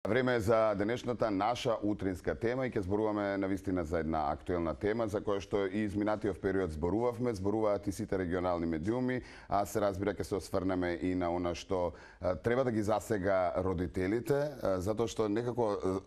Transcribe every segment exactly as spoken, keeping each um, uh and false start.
Време е за денешната наша утринска тема и ќе зборуваме навистина за една актуелна тема за која што и изминатиот период зборувавме, зборуваат и сите регионални медиуми, а се разбира ќе се осврнеме и на она што а, треба да ги засега родителите, а, затоа што некако а,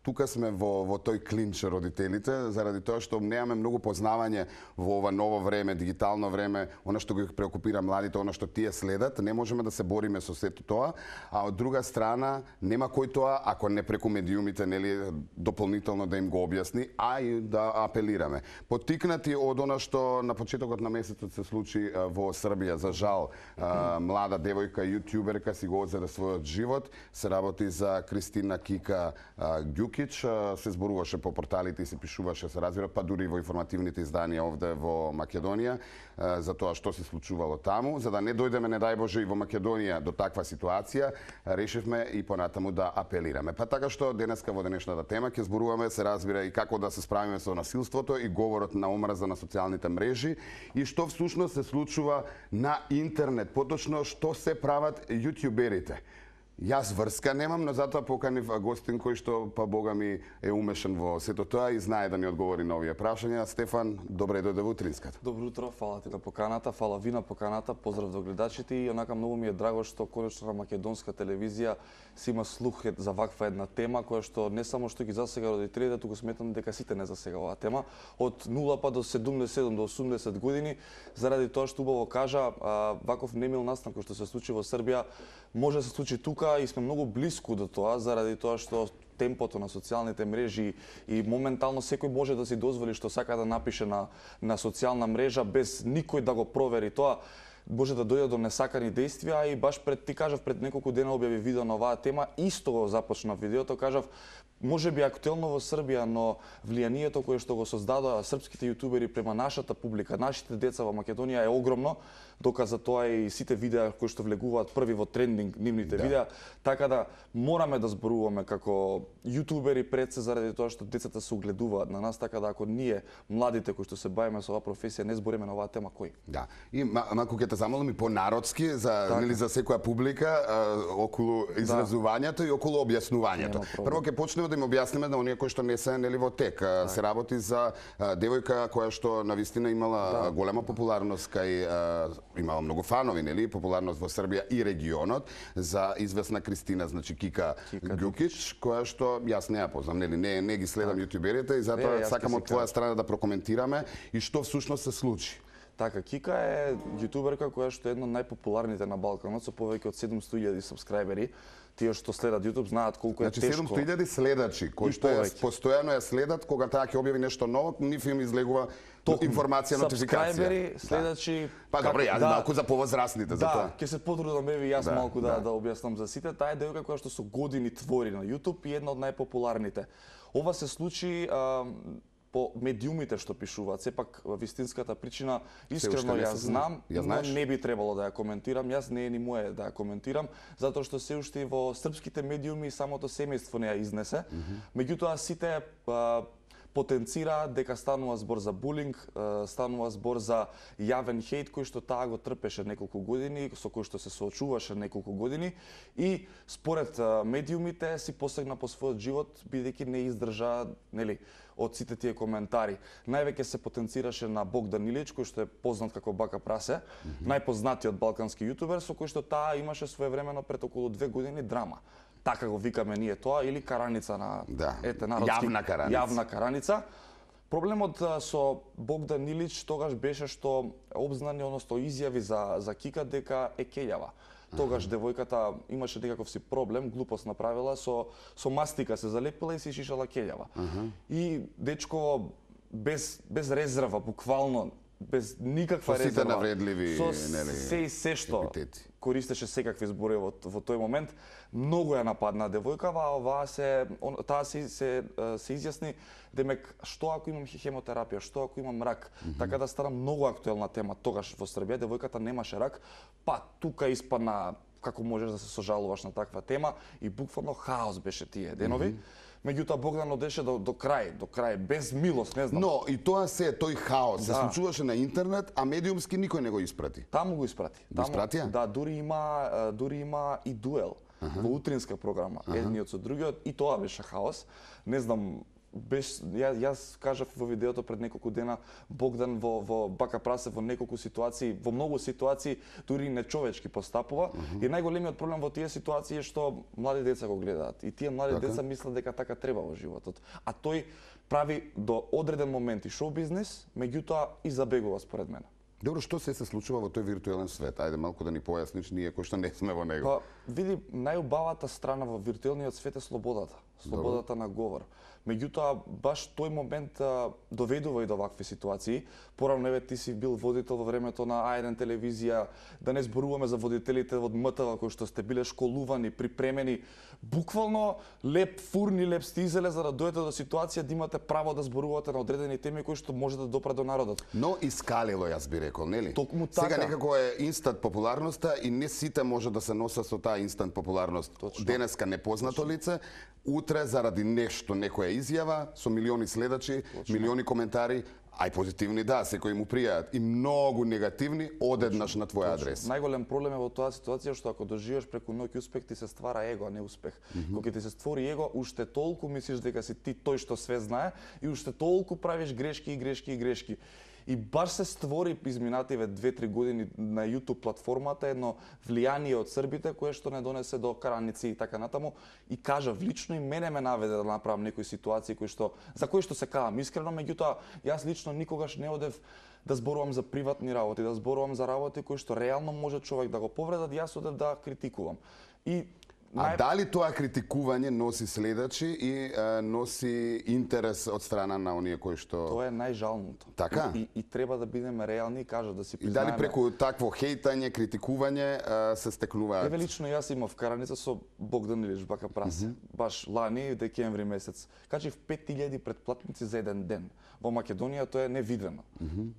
тука сме во, во тој клинч родителите, заради тоа што немаме многу познавање во ова ново време, дигитално време, она што ги преокупира младите, она што тие следат, не можеме да се бориме со сето тоа, а од друга страна нема кој тоа, ако не преку медиумите, нели, дополнително да им го објасни, а и да апелираме. Поттикнати од она што на почетокот на месецот се случи во Србија, за жал, млада девојка, јутјуберка си го одзеде својот живот, се работи за Кристина Кика Ѓукич, се зборуваше по порталите и се пишуваше, се разбира, па дури во информативните изданија овде во Македонија, за тоа што се случувало таму. За да не дојдеме, не дај Боже, и во Македонија до таква ситуација, решивме и понатаму да апелираме. Па така што денеска во денешната тема ќе зборуваме, се разбира, и како да се справиме со насилството и говорот на омраза на социјалните мрежи и што всушност се случува на интернет, поточно што се прават јутјуберите. Јас врска немам, но затоа поканив гостин кој што, па бога ми, е умешан во сето тоа и знае да ни одговори на овие прашања. Стефан, добре дојде во утринската. Добро утро, фала ти на поканата, фала ви на поканата, поздрав до гледачите и онака многу ми е драго што конечно на македонска телевизија си има слух за ваква една тема која што не само што ги засега родителите, туку сметам дека сите не засега оваа тема. Од нула па до седумдесет и седум до осумдесет години, заради тоа што убаво кажа, ваков немил настан кој што се случи во Србија може да се случи тука и сме многу блиску до тоа, заради тоа што темпото на социјалните мрежи и моментално секој може да си дозволи што сака да напише на, на социјална мрежа без никој да го провери тоа, може да дојде до несакани действија и баш пред ти кажав пред неколку дена објави видео на оваа тема, исто го започна видеото, кажав може би актуелно во Србија, но влијанието кое што го создадоа српските јутубери према нашата публика, нашите деца во Македонија е огромно, доказа тоа и сите видеа кои што влегуваат први во трендинг нивните да. видеа, така да мораме да зборуваме како јутубери пред се заради тоа што децата се угледуваат на нас, така да ако ние младите кои што се бавиме со оваа професија не збориме на оваа тема, кој? Да. И малку ќе те замолам и по-народски за така. нели за секоја публика а, околу изразувањето да. и околу објаснувањето. Прво ќе почнеме да им објасниме на оние кои што не се нели во тек. Так. Се работи за а, девојка која што навистина имала да. голема популарност кај а, имала многу фанови, нели, популарност во Србија и регионот за известна Кристина, значи Кика, Кика Ѓукич, која што јас не ја познам, нели, не не ги следам јутјуберите и затоа сакам од твоја страна да прокоментираме и што всушност се случи. Така, Кика е јутуберка која што е една од најпопуларните на Балканот со повеќе од седумстотини илјади сабскрајбери. Тие што следат јутуб знаат колку е значи, тешко. седумстотини илјади следачи кои што е постојано ја следат, кога таа ќе објави нешто ново, нив им излегува Ток, информација, нотификација. Сабскрајбери, следачи. Да. Па добре, јас да, малку за повозрастните за да, тоа. Да, ќе се потрудам еве јас да, малку да, да да објаснам за сите. Таа е девојка која што со години твори на јутуб и една од најпопуларните. Ова се случи а, по медиумите што пишуваат. Сепак вистинската причина искрено ја знам, ја но не би требало да ја коментирам. Јас не е ни моје да ја коментирам, затоа што се уште во српските медиуми самото семејство не ја изнесе. Mm -hmm. Меѓутоа сите а, потенцира дека станува збор за булинг, станува збор за јавен хејт кој што таа го трпеше неколку години, со кој што се соочуваше неколку години и според медиумите си посегна по својот живот бидејќи не издржа, нели, од сите тие коментари. Највеќе се потенцираше на Богдан Илич, кој што е познат како Бака Прасе, mm -hmm. најпознатиот балкански јутубер со кој што таа имаше своевремено пред околу две години драма. Така го викаме ние тоа, или караница на да. ете народски јавна караница. Јавна караница. Проблемот со Богдан Илич тогаш беше што обзнани, односно изјави за за Кика дека е кељава. Тогаш девојката имаше некаков си проблем, глупост направила, со со мастика се залепила и си шишала кељава. Uh -huh. И дечко без без резерва, буквално без никаква со резерва. Сите навредливи, со нели, се и се што епитети. Користеше секакви зборови во, во тој момент. Многу ја нападна девојкава, а оваа се он, таа се се се изјасни демек што ако имам хемотерапија, што ако имам рак. Mm -hmm. Така да стана многу актуелна тема тогаш во Србија, девојката немаше рак, па тука испадна како можеш да се сожалуваш на таква тема и буквално хаос беше тие денови. Mm -hmm. Меѓутоа Богдан одеше до, до крај, до крај, без милост, не знам. Но и тоа се, тој хаос да. се случуваше на интернет, а медиумски никој не го испрати. Таму го испрати. Го испратија? Да, дури има, дури има и дуел. во утринска програма, едниот со другиот, и тоа беше хаос. Не знам, Беш, ја, јас кажав во видеото пред неколку дена, Богдан во, во Бака Прасе во неколку ситуации, во многу ситуации, дури нечовечки постапува. Uh -huh. И најголемиот проблем во тие ситуации е што млади деца го гледаат. И тие млади така? деца мислат дека така треба во животот. А тој прави до одреден момент и шоу-бизнес, меѓутоа и забегува според мене. Добро, што се се случува во тој виртуелен свет? Ајде малку да ни појасниш ние кои што не сме во него. Па, види, најубавата страна во виртуелниот свет е слободата. Слободата Добро. на говор. Меѓутоа, баш тој момент а, доведува и до вакви ситуации. Порано, еве, ти си бил водител во времето на А еден телевизија, да не зборуваме за водителите од М Т В кои што сте биле школувани, припремени, буквално леп фурни, леп стизеле за да дојдете до ситуација да имате право да зборувате на одредени теми кои што може да допрат до народот. Но искалило, јас би рекол, нели? Токму така. Сега некако е инстант популарноста и не сите може да се носат со таа инстант популарност. Точно. Денеска непознато Точно. лице, утре заради нешто, некоја изјава со милиони следачи, Точно. милиони коментари, ај позитивни да, секои му пријаат, и многу негативни одеднаш на твој адрес. Најголем проблем е во тоа ситуација што ако доживееш преку ноќ успех, ти се ствара его, а не успех. Mm -hmm. Кога ти се створи его, уште толку мислиш дека си ти тој што све знае и уште толку правиш грешки и грешки и грешки. И баш се створи изминативе две-три години на YouTube платформата едно влијание од србите кое што не донесе до караници и така натаму, и кажав лично и мене ме наведе да направам некои ситуации кои што за кои што се кавам искрено, меѓутоа јас лично никогаш не одев да зборувам за приватни работи, да зборувам за работи кои што реално може човек да го повредат, јас одев да критикувам. И А нај... дали тоа критикување носи следачи и а, носи интерес од страна на оние кои што... Тоа е најжалното. Така? И, и, и треба да бидеме реални и кажа да си И признаеме. дали преку такво хейтање, критикување а, се стекнуваат? Еве лично јас имав караница со Богдан Илич Бака Прасе. Mm -hmm. Баш лани, декември месец. Качив пет илјади претплатници за еден ден. Во Македонија тоа е невидено. Mm -hmm.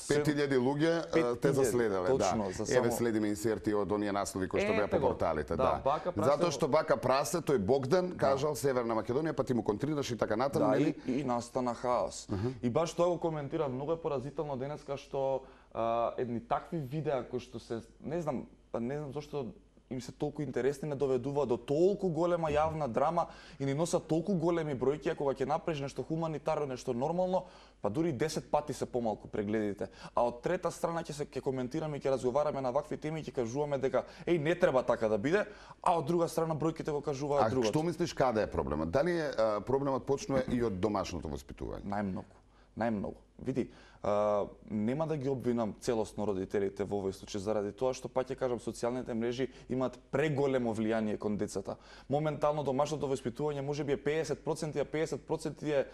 пет илјади луѓе пет те заследале, точно, да. За само... Еве следиме инсерти од оние наслови кои што беа по порталите, да. да. Бака Прасе... Затоа што Бака Прасе, тој Богдан кажал да. Северна Македонија, па ти му контрираш и така натаму, да, нели? И, и настана хаос. Uh -huh. И баш тоа го коментира, многу е поразително денеска што а, едни такви видеа кои што се, не знам, па не знам зошто им се толку интересни, не доведува до толку голема јавна драма и ни носат толку големи бројки, а кога ќе направиш нешто хуманитарно, нешто нормално, па дури десет пати се помалку прегледите. А од трета страна ќе се ќе коментираме и ќе разговараме на вакви теми и ќе кажуваме дека еј не треба така да биде, а од друга страна бројките го кажуваат другото. А што мислиш каде е проблемот? Дали е а, проблемот почнува и од домашното воспитување? Најмногу. Најмногу. Види, а, нема да ги обвинам целосно родителите во овој случај заради тоа што пак ќе кажам социјалните мрежи имаат преголемо влијание кон децата. Моментално домашното воспитување можеби е педесет проценти, а педесет проценти е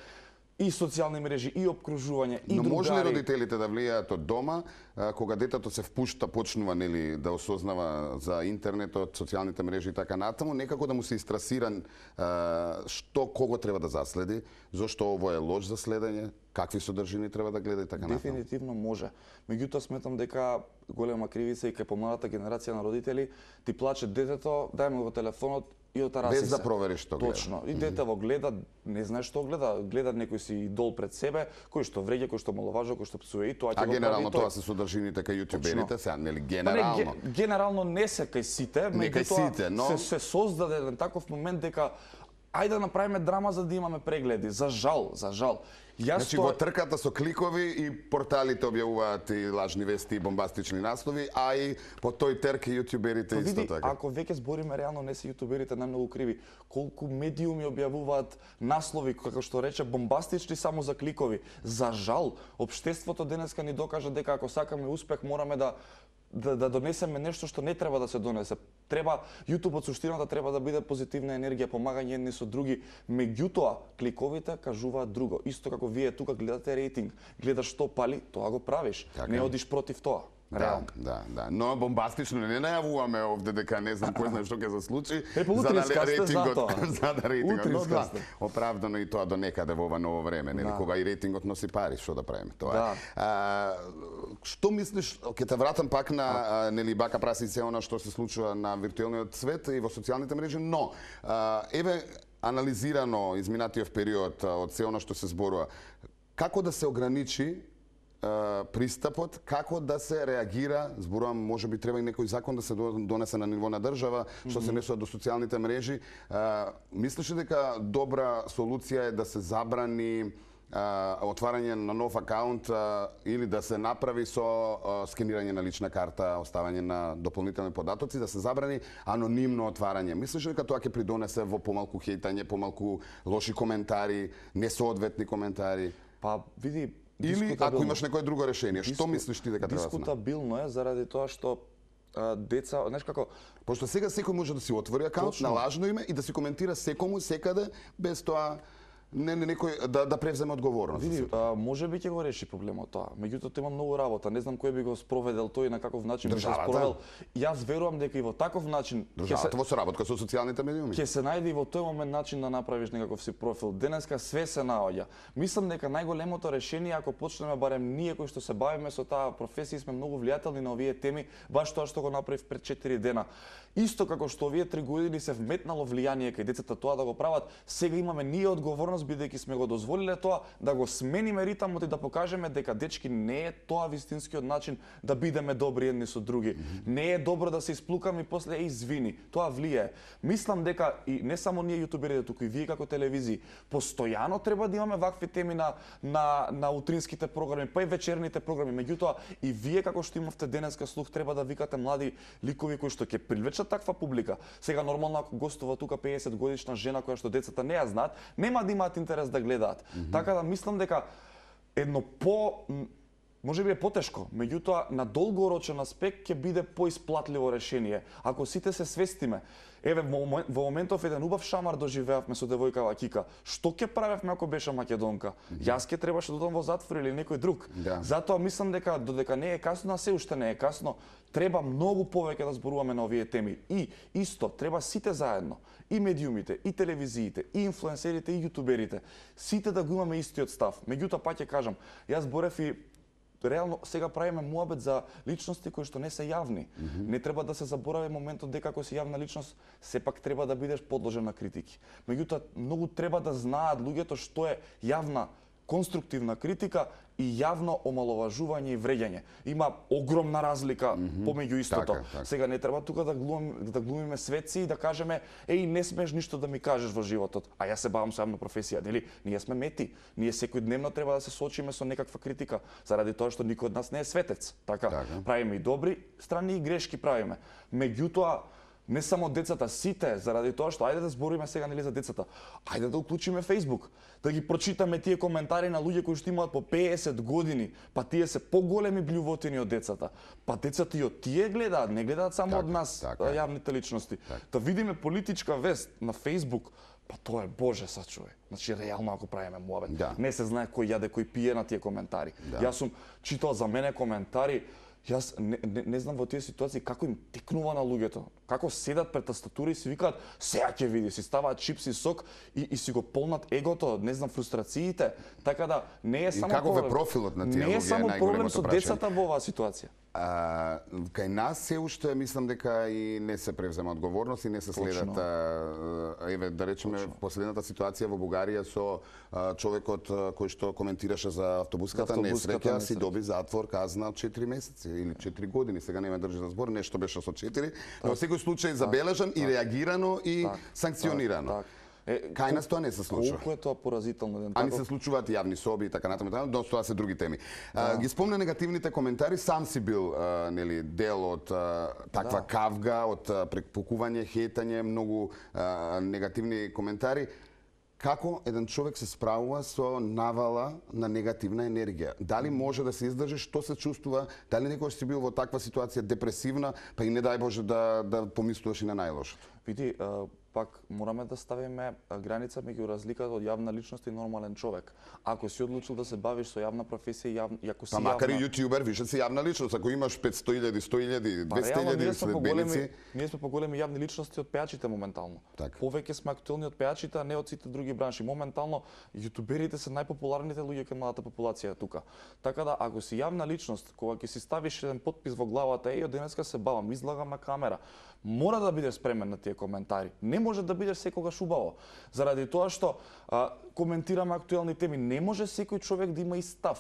и социјални мрежи, и обкружување, и Но другари. може ли родителите да влијаат од дома, а, кога детето се впушта, почнува нели да осознава за интернетот, социјалните мрежи и така натаму, некако да му се истрасира а, што кого треба да заследи, зошто ово е лош за следење, какви содржини треба да гледа и така натаму? Дефинитивно може. Меѓутоа сметам дека голема кривица и кај помладата генерација на родители ти плаче детето, дај му го телефонот и отараси без да провериш што гледа. Точно. И дете во гледа, не знае што гледа, гледа некој си идол пред себе, кој што вреѓа, кој што маловажува, кој што псува, и тоа ќе А го генерално прави тоа се содржините кај јутуберите, сега нели Па генерално? не, генерално не се кај сите, Не кај сите, но се, се создаде еден таков момент дека ајде да направиме драма за да имаме прегледи. За жал, за жал. Јас Значи то... во трката со кликови и порталите објавуваат и лажни вести и бомбастични наслови, а и по тој терк и јутуберите исто види, така. Ако веќе збориме реално, не се јутуберите најмногу криви. Колку медиуми објавуваат наслови, како што рече, бомбастични само за кликови. За жал, општеството денеска ни докажа дека ако сакаме успех, мораме да да, да донесеме нешто што не треба да се донесе. Треба YouTube од суштината треба да биде позитивна енергија, помагање едни со други. Меѓутоа, кликовите кажуваат друго. Исто како вие тука гледате рейтинг, гледаш што пали, тоа го правиш. Така. Не одиш против тоа. Да, да, да. Но бомбастично не најавуваме овде дека не знам кој знае што ќе се случи. Е, па утринска сте за тоа. За да рейтингот. Но да, сте. оправдано и тоа до некаде во ова ново време, нели, Да. кога и рейтингот носи пари, што да правиме тоа. Да. А, што мислиш, ќе те вратам пак на а, нели Бака Прасе и се она што се случува на виртуелниот свет и во социјалните мрежи, но а, еве анализирано изминатиот период а, од се она што се зборува, како да се ограничи пристапот како да се реагира, зборувам, може би треба и некој закон да се донесе на ниво на држава, што се несува до социјалните мрежи. Мислиш ли дека добра солуција е да се забрани отварање на нов акаунт или да се направи со скенирање на лична карта, оставање на дополнителни податоци, да се забрани анонимно отварање? Мислиш ли дека тоа ќе придонесе во помалку хейтање, помалку лоши коментари, несоодветни коментари? Па види, или ако имаш некое друго решение, што мислиш ти дека треба да се направи? Дискутабилно е заради тоа што а, деца, знаеш како, пошто сега секој може да си отвори акаунт на лажно име и да си коментира секому секаде без тоа не, не некој да да превземе одговорност. Види, а, може би ќе го реши проблемот тоа. Меѓутоа тоа има многу работа. Не знам кој би го спроведел тој и на каков начин би го спровел. Јас верувам дека и во таков начин ќе се во соработка со социјалните медиуми. Ќе се најде и во тој момент начин да направиш некаков си профил. Денеска све се наоѓа. Мислам дека најголемото решение ако почнеме барем ние кои што се бавиме со таа професија сме многу влијателни на овие теми, баш тоа што го направив пред четири дена. Исто како што овие три години се вметнало влијание кај децата тоа да го прават, сега имаме ние одговорност бидејќи сме го дозволиле тоа да го смениме ритамот и да покажеме дека дечки не е тоа вистинскиот начин да бидеме добри едни со други. Mm-hmm. Не е добро да се исплукаме и после е извини. Тоа влијае. Мислам дека и не само ние јутуберите, туку и вие како телевизии, постојано треба да имаме вакви теми на на на утринските програми, па и вечерните програми. Меѓутоа и вие како што имавте денеска слух треба да викате млади ликови кои што ќе привлечат таква публика. Сега нормално ако гостува тука пеесет годишна жена која што децата не ја знаат, нема да имаат интерес да гледаат. Mm-hmm. Така да мислам дека едно по може би е потешко, меѓутоа на долгорочен аспект ќе биде поисплатливо решение. Ако сите се свестиме, еве во, во моментов еден убав шамар доживеавме со девојкава Кика. Што ќе правевме ако беше македонка? Mm-hmm. Јас ќе требаше да одам во затвор или некој друг. Да. Затоа мислам дека додека не е касно, а се уште не е касно, треба многу повеќе да зборуваме на овие теми. И исто треба сите заедно, и медиумите, и телевизиите, и инфлуенсерите, и јутуберите, сите да го имаме истиот став. Меѓутоа пак ќе кажам, јас борев и реално сега правиме муабет за личности кои што не се јавни. Mm-hmm. Не треба да се заборави моментот дека ако си јавна личност, сепак треба да бидеш подложен на критики. Меѓутоа многу треба да знаат луѓето што е јавна конструктивна критика и јавно омаловажување и вреѓање. Има огромна разлика mm-hmm. помеѓу истото. Така, така. Сега не треба тука да глумим, да глумиме светци и да кажеме еј не смеш ништо да ми кажеш во животот, а јас се бавам со јавна професија, нели? Ние сме мети. Ние секојдневно треба да се соочиме со некаква критика, заради тоа што никој од нас не е светец. Така, така. Правиме и добри страни и грешки правиме. Меѓутоа не само децата, сите, заради тоа што ајде да збориме сега нели за децата. Ајде да уклучиме Facebook, да ги прочитаме тие коментари на луѓе кои што имаат по пеесет години, па тие се поголеми блјувотини од децата. Па децата и од тие гледаат, не гледаат само так, од нас, така, јавните личности. Так. Да видиме политичка вест на Facebook, па тоа е боже сачувај. Значи реално ако правиме муабет, да. Не се знае кој јаде, кој пие на тие коментари. Да. Јас сум читал за мене коментари. Јас не, не, не знам во тие ситуации како им текнува на луѓето. Како седат пред тастатура и си викаат сеа ќе види, си ставаат чипс и сок и, и си го полнат егото, не знам фрустрациите. Така да не е само и каков е профилот на тие луѓе? Не е само проблем со децата во оваа ситуација. А, кај нас се уште мислам дека и не се превзема одговорност и не се следат а, еве да речеме Точно. Последната ситуација во Бугарија со а, човекот а, кој што коментираше за автобуската, автобуската несреќа си доби затвор казна од четири месеци или четири години, сега не ме држи за збор, нешто беше со четири, но во секој случај забележан так, и реагирано и так, санкционирано. Так, так. Е, кај нас тоа не се случува. Колку е тоа поразително? Ами се случуваат јавни соби и така натаму, но тоа се други теми. Да. А, ги спомна негативните коментари, сам си бил а, нели дел од а, таква да. Кавга, од препукување, хейтање, многу а, негативни коментари. Како еден човек се справува со навала на негативна енергија? Дали може да се издржи, што се чувствува? Дали некојаш си бил во таква ситуација депресивна, па и не дај Боже да да помислуваш и на најлошото? Види, пак мораме да ставиме граница меѓу разликата од јавна личност и нормален човек. Ако си одлучил да се бавиш со јавна професија и јавна, ако си па макар јавна... и јутјубер, више си јавна личност, ако имаш петсто илјади, сто илјади, двесте илјади следбеници, ние сме поголеми јавни личности од пејачите моментално. Так. Повеќе сме актуелни од пејачите, а не од сите други бранши. Моментално јутуберите се најпопуларните луѓе кај младата популација тука. Така да ако си јавна личност, кога ќе си ставиш еден потпис во главата, еј, од денеска се бавам, излагам на камера, мора да бидеш спремен на тие коментари. Не може да бидеш секогаш убаво. Заради тоа што а, коментираме актуелни теми, не може секој човек да има и став.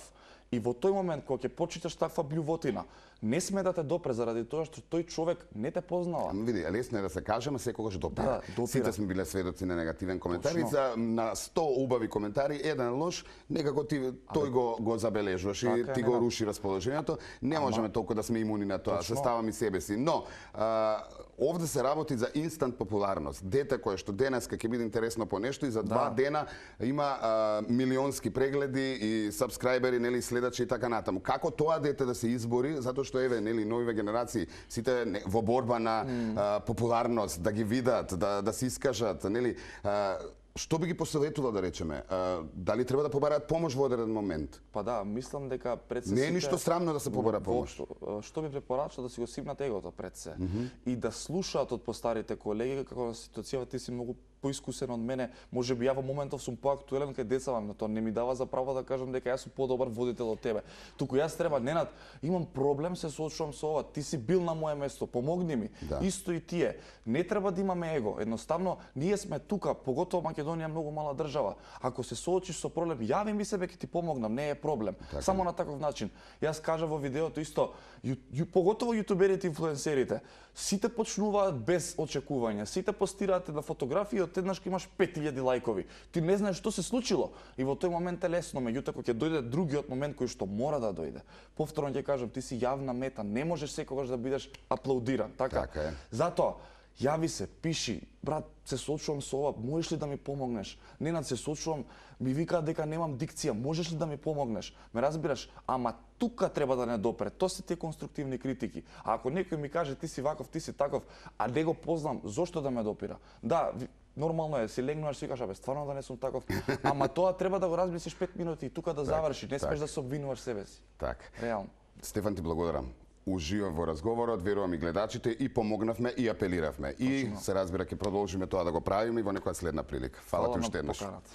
И во тој момент кога ќе почиташ таква блювотина, не сме да те допре заради тоа што тој човек не те познава. Ама види, лесно е да се кажеме, секогаш допира. Да, допира. Сите сме биле сведоци на негативен коментар. Точно. И за на сто убави коментари, еден лош, некако ти тој го го забележуваш и Така ти е, го нема. руши расположението. Не можеме толку да сме имуни на тоа, се ставам и себе си. Но а, овде се работи за инстант популарност. Дете кое што денеска ќе биде интересно по нешто и за два Да. дена има а, милионски прегледи и сабскрајбери, нели, следачи и така натаму. Како тоа дете да се избори, затоа што еве, нели, новиве генерации, сите не, во борба на mm. а, популарност, да ги видат, да да се искажат, нели, а, што би ги посоветувал да речеме? А, дали треба да побараат помош во одреден момент? Па да, мислам дека пред се Не е сите- ништо срамно да се побара помош. Воопшто, што би препорачал да си го сипнат егото пред се mm -hmm. и да слушаат од постарите колеги како на ситуацијата ти си многу поискусен од мене, можеби ја во моментов сум поактуелен кај децава, но тоа не ми дава за право да кажам дека јас сум подобар водител од тебе. Туку јас треба, Ненад, имам проблем, се соочувам со ова, ти си бил на моје место, помогни ми. Да. Исто и тие. Не треба да имаме его. Едноставно, ние сме тука, поготово Македонија е многу мала држава. Ако се соочиш со проблем, јави ми се, бе, ќе ти помогнам, не е проблем. Така. Само на таков начин. Јас кажа во видеото исто, ю, ю, поготово јутуберите и инфлуенсерите, сите почнуваат без очекувања, сите постираат една фотографија и одеднаш ќе имаш пет илјади лајкови. Ти не знаеш што се случило и во тој момент е лесно, меѓутоа кога ќе дојде другиот момент кој што мора да дојде. Повторно ќе кажам, ти си јавна мета, не можеш секогаш да бидеш аплаудиран, така? Така е. Затоа, јави се, пиши, брат, се соочувам со ова, можеш ли да ми помогнеш? Ненад, се соочувам, ми викаат дека немам дикција, можеш ли да ми помогнеш? Ме разбираш? Ама тука треба да не допре. Тоа се тие конструктивни критики. А ако некој ми каже ти си ваков, ти си таков, а не го познам, зошто да ме допира? Да, ви- нормално е, си легнуваш, си кажеш, абе, стварно да не сум таков. Ама тоа треба да го размислиш пет минути и тука да заврши, не смеш так. да се обвинуваш себе си. Так. Реално. Стефан, ти благодарам. Уживам во разговорот, верувам и гледачите, и помогнавме и апелиравме. И се разбира ќе продолжиме тоа да го правиме и во некоја следна прилика. Фала ти Фала на уште еднаш. поканата.